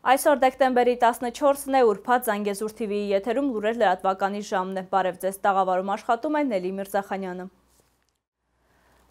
Այսօր դեկտեմբերի 14-ն է, ուրբաթ Զանգեզուր TV-ի եթերում լուրեր լրատվականի ժամն է։ Բարև ձեզ, տաղավարում աշխատում է Նելի Միրզախանյանը։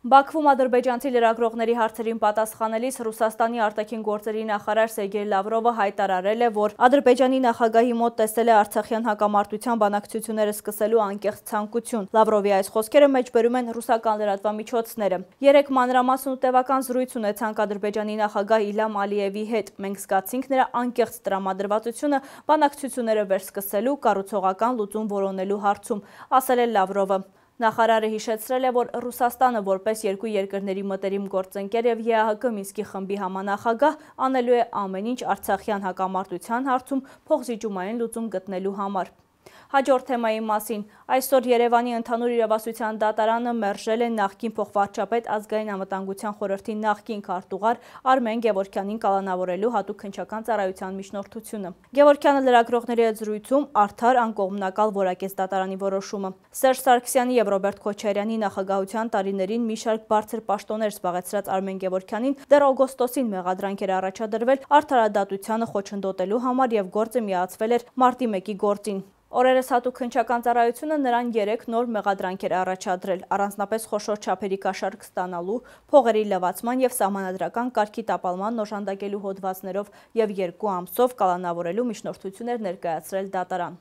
Բաքվում ադրբեջանցի լրագրողների հարցերին պատասխանելիս Ռուսաստանի արտաքին գործերի նախարար Սերգեյ Լավրովը հայտարարել է, որ Ադրբեջանի նախագահի մոտ տեսել է արցախյան հակամարտության բանակցությունները սկսելու անկեղծ ցանկություն։ Լավրովի այս խոսքերը մեջբերում են ռուսական լրատվամիջոցները։ Երեկ մանրամասն ու տևական զրույց ունեցանք Ադրբեջանի նախագահ Իլհամ Ալիևի հետ։ Մենք զգացինք նրա անկեղծ տրամադրվածությունը բանակցությունները վերսկսելու, կառուցողական լուծում որոնելու հարցում, ասել է Լավրովը։ Նախարարը հիշեցրել է, որ Ռուսաստանը որպես երկու երկրների մտերիմ գործընկեր եւ ԵԱՀԿ Մինսկի խմբի համանախագահ անելու է ամեն ինչ արցախյան հակամարտության հարցում փոխզիջումային լուծում գտնելու համար։ Հաջորդ թեմայի մասին այսօր Երևանի ընդհանուր իրավասության դատարանը մերժել է նախկին փոխվարչապետ ազգային անվտանգության խորհրդի նախկին քարտուղար Արմեն Գևորգյանին կալանավորելու հատուկ քննչական ծառայության միջնորդությունը։ Գևորգյանը լրագրողների հետ զրույցում արդար անկողմնակալ որակեց դատարանի որոշումը։ Սերժ Սարգսյանի եւ Ռոբերտ Քոչարյանի նախագահության տարիներին մի շարք բարձր պաշտոններ զբաղեցրած Արմեն Գևորգյանին դեռ օգոստոսին մեղադրանք էր առաջադրվել արդարադատությանը խոչընդոտելու համար եւ գործը միացվել էր մարտի 1-ի գործին։ Օրերս հատուկ քննչական ծառայությունը նրան 3 նոր մեղադրանք էր առաջադրել, առանձնապես խոշոր չափերի կաշառք ստանալու, փողերի լվացման եւ սահմանադրական կարգի տապալման օժանդակելու հոդվածներով եւ 2 ամսով կալանավորելու միջնորդություն էր ներկայացրել դատարան։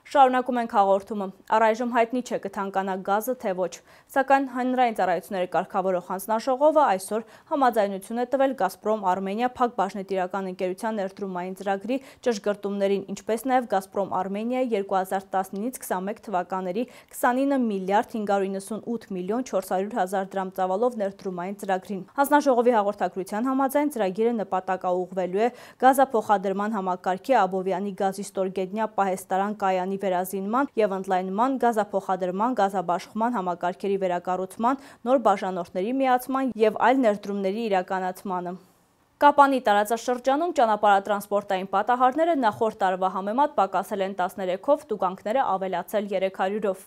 Շարունակում ենք հաղորդումը։ Առայժմ հայտնի չէ կթանկանա գազը, թե ոչ, սակայն հանրային ծառայությունների կարգավորող հանձնաժողովը այսօր համաձայնություն է տվել Գազպրոմ Արմենիա փակ բաժնետիրական ընկերության ներդրումային ծրագրի ճշգրտումներին, ինչպես նաև Գազպրոմ Արմենիայի 2019-ից 21 թվականների 29 միլիարդ 598 միլիոն 400 հազար դրամ ծավալով ներդրումային ծրագրին։ Հանձնաժողովի հաղորդագրության համաձայն ծրագիրը նպատակաուղղվելու է գազափոխադրման համակարգի Աբովյանի գազի ստորգետնյա պահեստարան կայանի վերազինման եւ ընդլայնման, գազափոխադրման, գազաբաշխման համակարգերի վերակառուցման, նոր բաժանորդների միացման եւ այլ ներդրումների իրականացմանը։ Կապանի տարածաշրջանում ճանապարհատրանսպորտային պատահարները նախորդ տարվա համեմատ պակասել են 13-ով, տուգանքները ավելացել 300-ով։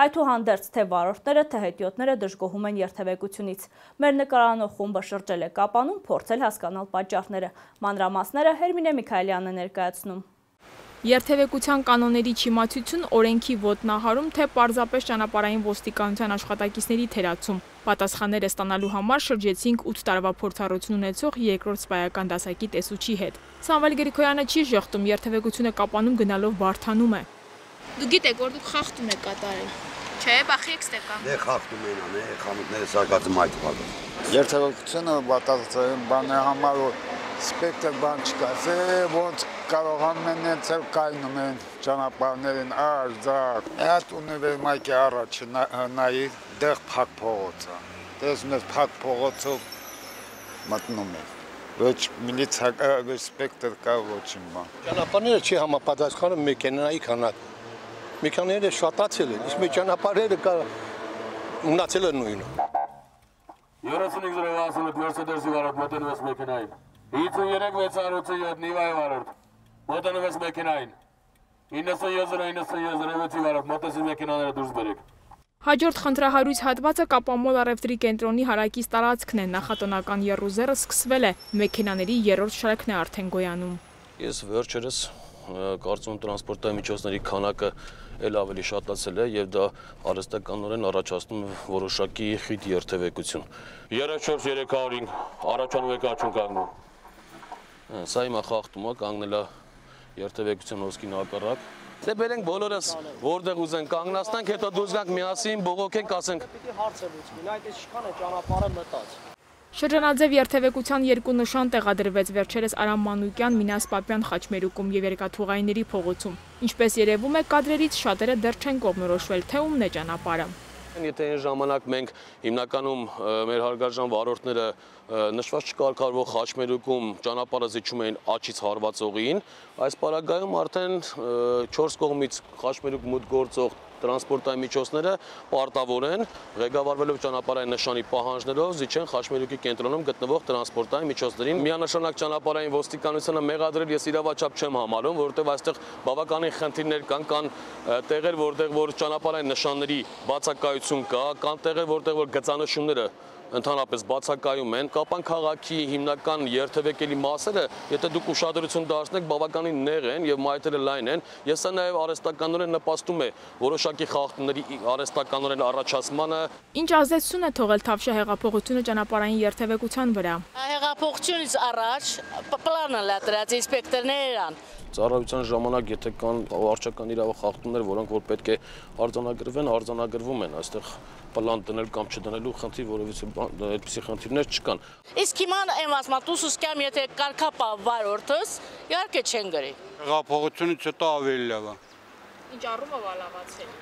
Այդուհանդերձ թե վարորդները, թե հետիոտները դժգոհում են երթևեկությունից։ Մեր նկարանող խումբը շրջել է Կապանում, փորձել հասկանալ պատճառները։ Մանրամասները Հերմինե Միքայելյանն է ներկայացնում։ Երթևեկության կանոնների չիմացություն, օրենքի ոտնահարում, թե պարզապես ճանապարհային ոստիկանության աշխատակիցների թերացում։ Պատասխանները ստանալու համար շրջեցինք 8 տարվա փորձառություն ունեցող երկրորդ սպայական դասակի տեսուչի հետ։ Սամվել Գրիգորյանը չի ժխտում, երթևեկությունը Կապանում գնալով բարթանում է։ Դու գիտեք, որ դուք խախտում եք կատարել։ Չէ, բախի եք ստեկան։ Դե խախտում են անը, խանութները սարկածում այդ բանը։ Երթևեկությունը բացարձակ բան է համար որ սպեկտր բան չկա, ոնց կարողանում են ներծել կայնում են ճանապարհներին արձակ։ Այդ ունիվերմայքի առաջ նայի դեղ փակ փողոցը։ Տեսնում ես փակ փողոցով մտնում է։ Ոչ միլիցիա, ոչ սպեկտր կա, ոչինչ բան։ Ճանապարհները չի համապատասխանում մեքենայի քանակ։ Մեքենաները շատացել են, իսկ ճանապարհները կա մնացել են նույնը։ 3568 Mercedes-ի վարորդ մոտենում ես մեքենային։ 53-687 Նիվայի վարորդ մոտենում ես մեքենային։ 97-97-ի վարորդ մոտեցի մեքենաները դուրս բերեք։ Հաջորդ խնդրահարույց հատվածը Կապամոլ առևտրի կենտրոնի հարակից տարածքն է, նախատոնական եռուզեռը սկսվել է, մեքենաների երրորդ շարքն է արդեն գոյանում։ Ես վերջերս կարծում տրանսպորտային միջոցների քանակը էլ ավելի շատացել է եւ դա արհեստականորեն առաջացնում է որոշակի խիտ երթևեկություն։ 34-305 առաջանում եք աչուն կանգնում։ Սա հիմա խախտում է, կանգնել է երթևեկության հոսքին հակառակ։ Դե բերենք բոլորս որտեղ ուզեն կանգնացնենք, հետո դուրս գանք միասին, բողոքենք, ասենք։ Պիտի հարցը լուծվի, այդ ինչքան է ճանապարհը մտած։ Շրջանաձև երթևեկության երկու նշան տեղադրվեց վերջերս Արամ Մանուկյան, Մինաս Պապյան խաչմերուկում եւ Երկաթուղայինների փողոցում։ Ինչպես երևում է կադրերից շատերը դեռ չեն կողմնորոշվել, թե ումն է ճանապարհը։ Եթե այն ժամանակ մենք հիմնականում մեր հարգարժան վարորդները նշված չկարգավորվող խաչմերուկում ճանապարհը զիջում էին աջից հարվածողին, այս պարագայում արդեն 4 կողմից խաչմերուկ մուտք գործող տրանսպորտային միջոցները պարտավոր են ղեկավարվելով ճանապարհային նշանի պահանջներով զիջեն խաչմերուկի կենտրոնում գտնվող տրանսպորտային միջոցներին։ Միանշանակ ճանապարհային ոստիկանությունը մեղադրել ես իրավաչափ չեմ համարում, որովհետև այստեղ բավականին խնդիրներ կան տեղեր, որտեղ որ ճանապարհային նշանների բացակայություն կա, կան տեղեր, որտեղ որ գծանշումները ընդհանրապես բացակայում են։ Կապան քաղաքի հիմնական երթևեկելի մասերը, եթե դուք ուշադրություն դարձնեք, բավականին նեղ են եւ մայթերը լայն են, եւ սա նաեւ արհեստականորեն նպաստում է որոշակի խախտումների արհեստականորեն առաջացմանը։ Ինչ ազդեցություն է թողել Թավշյա հեղափոխությունը ճանապարհային երթևեկության վրա։ Հեղափոխությունից առաջ պլանը լատրած ինսպեկտորներ են։ Ծառայության ժամանակ եթե կան վարչական իրավունք խախտումներ, որոնք որ պետք է արձանագրվեն, արձանագրվում են, այստեղ պլան դնել կամ չդնելու խնդիր, որովհետեւ այդպիսի խնդիրներ չկան։ Իսկ հիմա եմ ասում, դուսուս կամ եթե կարգապա վարորդս, իհարկե չեն գրի։ Հեղափոխությունից հետո ավելի լավ է։ Ինչ առումով լավացել։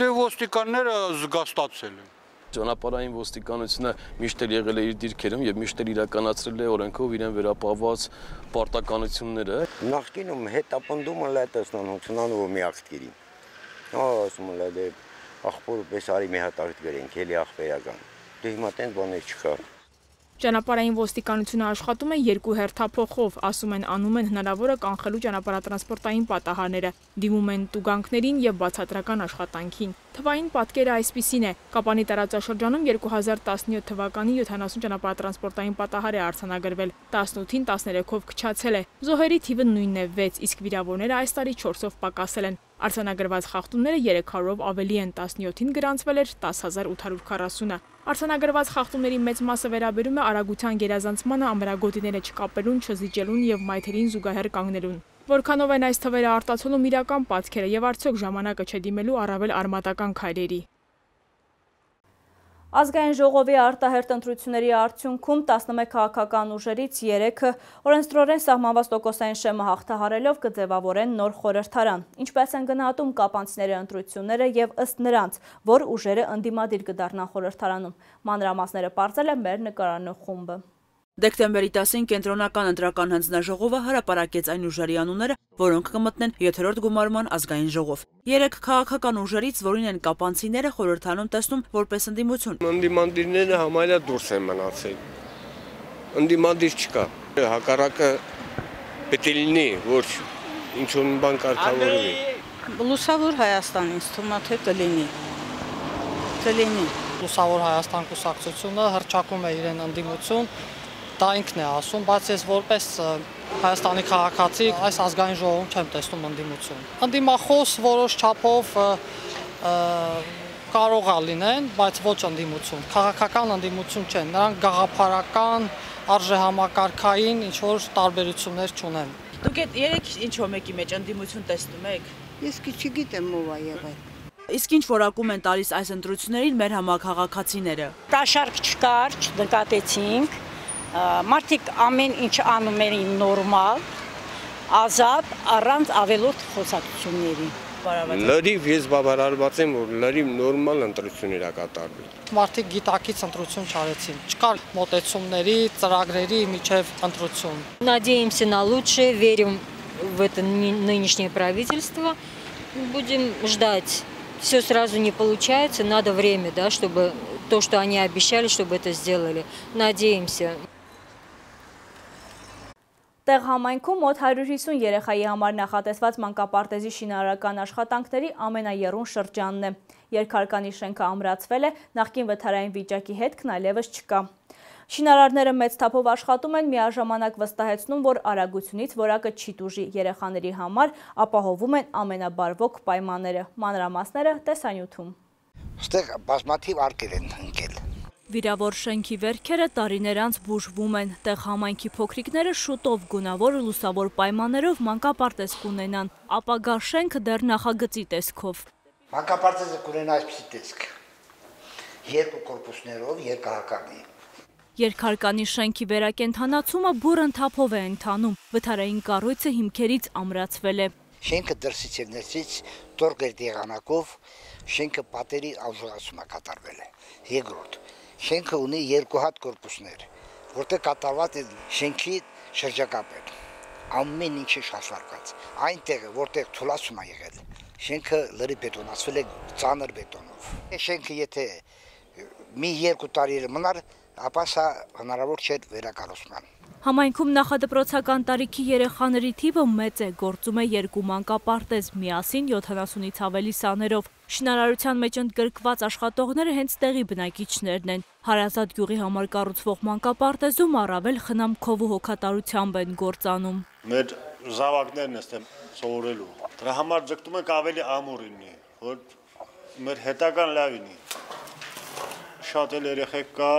Դե ոստիկանները զգաստացել են։ Ճանապարհային ոստիկանությունը միշտ էլ եղել է իր դիրքերում եւ միշտ էլ իրականացրել է օրենքով իրեն վերապահված պարտականությունները։ Նախկինում հետապնդումը լետեսնանությունան ու մի աղտկերի։ Ասում եմ դե ախպոր պես արի մի հատ աղտ գրենք, էլի ախպերական։ Դե հիմա տենց բաներ չկա։ Ճանապարհային ոստիկանությունը աշխատում է երկու հերթափոխով, ասում են անում են հնարավորը կանխելու ճանապարհատրանսպորտային պատահարները, դիմում են տուգանքներին եւ բացատրական աշխատանքին։ Թվային պատկերը այսպիսին է. Կապանի տարածաշրջանում 2017 թվականի 70 ճանապարհատրանսպորտային պատահար է արձանագրվել, 18-ին 13-ով քչացել է։ Զոհերի թիվը նույնն է 6, իսկ վիրավորները այս տարի 4-ով պակասել են։ Արձանագրված խախտումները 300-ով ավելի են, 17-ին գրանցվել էր 10840-ը։ Արձանագրված խախտումների մեծ մասը վերաբերում է արագության գերազանցմանը, ամրագոտիները չկապելուն, չզիջելուն եւ մայթերին զուգահեռ կանգնելուն։ Որքանով են այս թվերը արտացոլում իրական պատկերը եւ արդյոք ժամանակը չէ դիմելու առավել արմատական քայլերի։ Ազգային ժողովի արտահերթ ընտրությունների արդյունքում 11 քաղաքական ուժերից 3-ը օրենսդրորեն սահմանված տոկոսային շեմը հաղթահարելով կձևավորեն նոր խորհրդարան։ Ինչպես են գնահատում կապանցիների ընտրությունները եւ ըստ նրանց, որ ուժերը ընդդիմադիր կդառնան խորհրդարանում։ Մանրամասները պարզել է մեր նկարանող խումբը։ Դեկտեմբերի 10-ին կենտրոնական ընտրական հանձնաժողովը հրապարակեց այն ուժերի անունները, որոնք կմտնեն 7-րդ գումարման ազգային ժողով։ 3 քաղաքական ուժերից, որին են կապանցիները, խորհրդարանում տեսնում որպես ընդդիմություն։ Ընդդիմադիրները համարյա դուրս են մնացել։ Ընդդիմադիր չկա։ Հակառակը պետք է լինի, որ ինչ-որ մի բան կարգավորվի։ Լուսավոր Հայաստան ինձ թվում է թե կլինի։ Կլինի։ Լուսավոր Հայաստան կուսակցությունը հռչակում է իրեն ընդդիմություն, դա ինքն է ասում, բայց ես որպես Հայաստանի քաղաքացի այս ազգային ժողովում չեմ տեսնում ընդդիմություն։ Ընդդիմախոս որոշ չափով կարող է լինեն, բայց ոչ ընդդիմություն, քաղաքական ընդդիմություն չեն, նրանք գաղափարական, արժեհամակարգային ինչ-որ տարբերություններ չունեն։ Դուք այդ 3 ինչ-որ մեկի մեջ ընդդիմություն տեսնում եք։ Ես չգիտեմ ով է եղել։ Իսկ ինչ որակում են տալիս այս ընտրություններին մեր համաքաղաքացիները։ Կաշառք չկար, չնկատեցինք, մարդիկ ամեն ինչ անում էին նորմալ, ազատ, առանց ավելորդ խոսակցությունների։ Լրիվ ես բավարարված եմ, որ լրիվ նորմալ ընտրություններ է կատարվել։ Մարդիկ գիտակից ընտրություն չարեցին, չկար մոտեցումների, ծրագրերի միջև ընտրություն։ Надеемся на лучшее, верим в это нынешнее правительство, будем ждать. Все сразу не получается, надо время, да, чтобы то, что они обещали, чтобы это сделали. Надеемся. Տեղ համայնքում մոտ 150 երեխայի համար նախատեսված մանկապարտեզի շինարարական աշխատանքների ամենաեռուն շրջանն է։ Երկհարկանի շենքը ամրացվել է, նախկին վթարային վիճակի հետքն այլևս չկա։ Շինարարները մեծ թափով աշխատում են, միաժամանակ վստահեցնում, որ արագությունից որակը չի տուժի, երեխաների համար ապահովում են ամենաբարվոք պայմանները։ Մանրամասները տեսանյութում։ Ստեղ բազմաթիվ արկեր են ընկել։ Վիրավոր շենքի վերքերը տարիներ անց բուժվում են, տեղ համայնքի փոքրիկները շուտով գունավոր լուսավոր պայմաններով մանկապարտեզ կունենան, ապագա շենքը դեռ նախագծի տեսքով։ Մանկապարտեզը կունենա այսպիսի տեսք, 2 կորպուսներով, երկհարկանի։ Երկհարկանի շենքի վերակենդանացումը բուռն թափով է ընթանում, վթարային կառույցը հիմքերից ամրացվել է։ Շենքը դրսից եւ ներսից տորգեր եղանակով շենքը պատերի ազգացում է կատարվել է։ Երկրորդ շենքը ունի 2 հատ կորպուսներ, որտեղ կատարված է շենքի շրջակապը։ Ամեն ինչը շարժարկած։ Այնտեղ, որտեղ թուլացում է եղել, շենքը լրի բետոնացվել է ծանր բետոնով։ Շենքը եթե մի 2 տարի մնար, ապա սա հնարավոր չէ վերակառուցման։ Համայնքում նախադպրոցական տարիքի երեխաների թիվը մեծ է, գործում է 2 մանկապարտեզ, միասին 70-ից ավելի սաներով։ Շինարարության մեջ ընդգրկված աշխատողները հենց տեղի բնակիչներն են։ Հարազատ գյուղի համար կառուցվող մանկապարտեզում առավել խնամքով ու հոգատարությամբ են գործանում։ Մեր զավակներն են սովորելու։ Դրա համար ձգտում ենք ավելի ամուր լինի, որ մեր հետագան լավ լինի։ Շատ էլ երեխեք կա,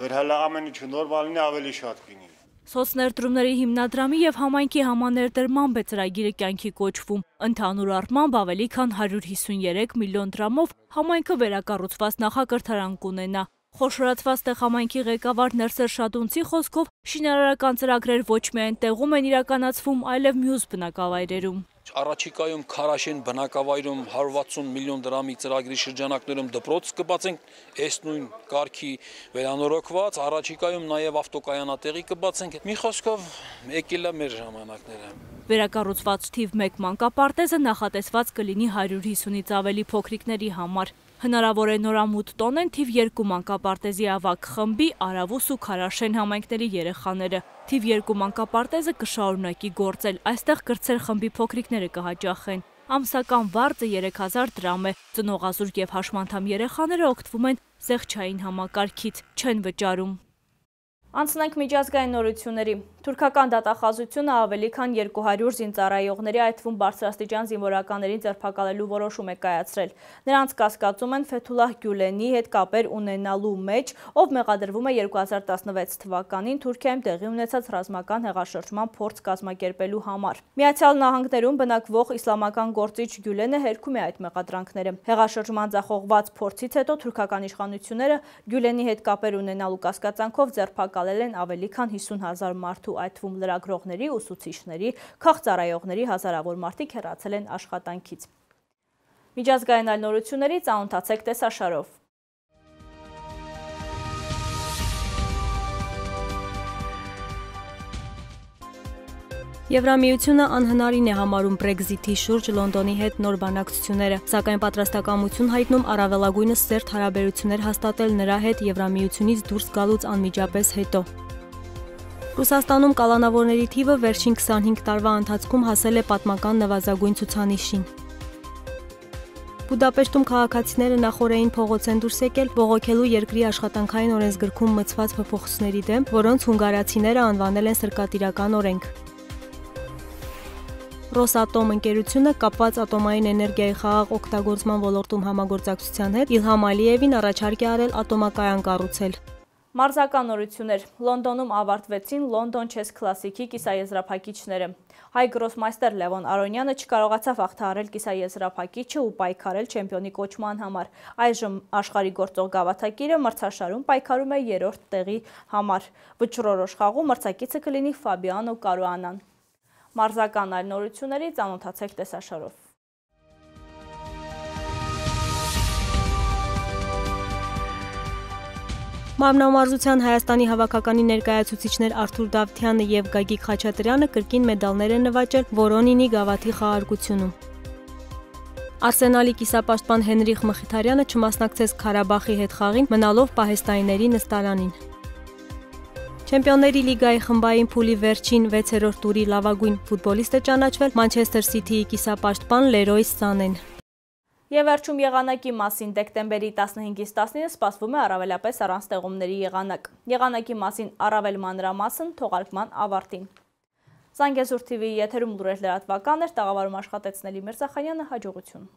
որ հələ ամեն ինչ նորմալ լինի, ավելի շատ լինի։ Սոցներդրումների հիմնադրամի եւ համայնքի համաներդրմամբ է ծրագիրը կյանքի կոչվում։ Ընդհանուր առմամբ ավելի քան 153 միլիոն դրամով համայնքը վերակառուցված նախակրթարան կունենա։ Խոշորացված տեղ համայնքի ղեկավար Ներսեր Շատունցի խոսքով շինարարական ծրագրեր ոչ միայն տեղում են իրականացվում, այլև մյուս բնակավայրերում։ Առաջիկայում Քարաշեն բնակավայրում 160 միլիոն դրամի ծրագրի շրջանակներում դպրոց կբացենք, այս նույն կարգի վերանորոգված, առաջիկայում նաև ավտոկայանատեղի կբացենք։ Մի խոսքով եկել է մեր ժամանակները։ Վերակառուցված թիվ 1 մանկապարտեզը նախատեսված կլինի 150-ից ավելի փոքրիկների համար։ Հնարավոր է նորամուտ տոնեն թիվ 2 մանկապարտեզի ավագ խմբի, Արավուս ու Քարաշեն համայնքների երեխաները։ Թիվ 2 մանկապարտեզը կշարունակի գործել, այստեղ կրտսեր խմբի փոքրիկները կհաճախեն։ Ամսական վարձը 3000 դրամ է, ծնողազուրկ եւ հաշմանդամ երեխաները օգտվում են զեղչային համակարգից, չեն վճարում։ Անցնենք միջազգային նորությունների։ Թուրքական դատախազությունը ավելի քան 200 զինծառայողների, այդ թվում բարձրաստիճան զինվորականներին ձերբակալելու որոշում է կայացրել։ Նրանց կասկածում են Ֆեթուլահ Գյուլենի հետ կապեր ունենալու մեջ, ով մեղադրվում է 2016 թվականին Թուրքիայում տեղի ունեցած ռազմական հեղաշրջման փորձ կազմակերպելու համար։ Միացյալ Նահանգներում բնակվող իսլամական գործիչ Գյուլենը հերքում է այդ մեղադրանքները։ Հեղաշրջման ձախողված փորձից հետո թուրքական իշխանությունները Գյուլենի հետ կապեր ունենալու կասկածանքով ձերբակալել են ավելի քան 50,000 մարդու, այդ թվում լրագրողների, ուսուցիչների, քաղծառայողների հազարավոր մարդիկ հեռացել են աշխատանքից։ Միջազգային այլ նորությունների ծանոթացեք տեսաշարով։ Եվրամիությունը անհնարին է համարում Brexit-ի շուրջ Լոնդոնի հետ նոր բանակցությունները, սակայն պատրաստակամություն հայտնում առավելագույնս սերտ հարաբերություններ հաստատել նրա հետ Եվրամիությունից դուրս գալուց անմիջապես հետո։ Ռուսաստանում կալանավորների թիվը վերջին 25 տարվա ընթացքում հասել է պատմական նվազագույն ցուցանիշին։ Բուդապեշտում քաղաքացիները նախօրեին փողոց են դուրս եկել բողոքելու երկրի աշխատանքային օրենսգրքում մտցված փոփոխությունների դեմ, որոնց հունգարացիները անվանել են սրկատիրական օրենք։ Ռոսատոմ ընկերությունը կապված ատոմային էներգիայի խաղաղ օգտագործման ոլորտում համագործակցության հետ Իլհամ Ալիևին առաջարկ է արել ատոմակայան կառուցել։ Մարզական նորություններ։ Լոնդոնում ավարտվեցին Լոնդոն Չես Քլասիկի կիսաեզրափակիչները։ Հայ գրոսմայստեր Լևոն Արոնյանը չկարողացավ հաղթահարել կիսաեզրափակիչը ու պայքարել չեմպիոնի կոչման համար։ Այժմ աշխարհի գործող գավաթակիրը մրցաշարում պայքարում է 3-րդ տեղի համար։ Վճռորոշ խաղում մրցակիցը կլինի Ֆաբիանո Կարուանան։ Մարզական այլ նորությունների ծանոթացեք տեսաշարով։ Մարմնամարզության Հայաստանի հավաքականի ներկայացուցիչներ Արթուր Դավթյանը եւ Գագիկ Խաչատրյանը կրկին մեդալներ են նվաճել Վորոնինի գավաթի խաղարկությունում։ Արսենալի կիսապաշտպան Հենրիխ Մխիթարյանը չմասնակցեց Ղարաբաղի հետ խաղին, մնալով պահեստայինների նստարանին։ Չեմպիոնների լիգայի խմբային փուլի վերջին 6-րդ տուրի լավագույն ֆուտբոլիստը ճանաչվել Մանչեսթեր Սիթիի կիսապաշտպան Լերոյ Սանեն։ Եվ վերջում եղանակի մասին դեկտեմբերի 15-ից 19-ը սպասվում է առավելապես առանց տեղումների եղանակ։ Եղանակի մասին առավել մանրամասն թողարկման ավարտին։ Զանգեզուր TV եթերում լուրեր լրատվական էր, տաղավարում աշխատեցնել Միրզախանյանը, հաջողություն։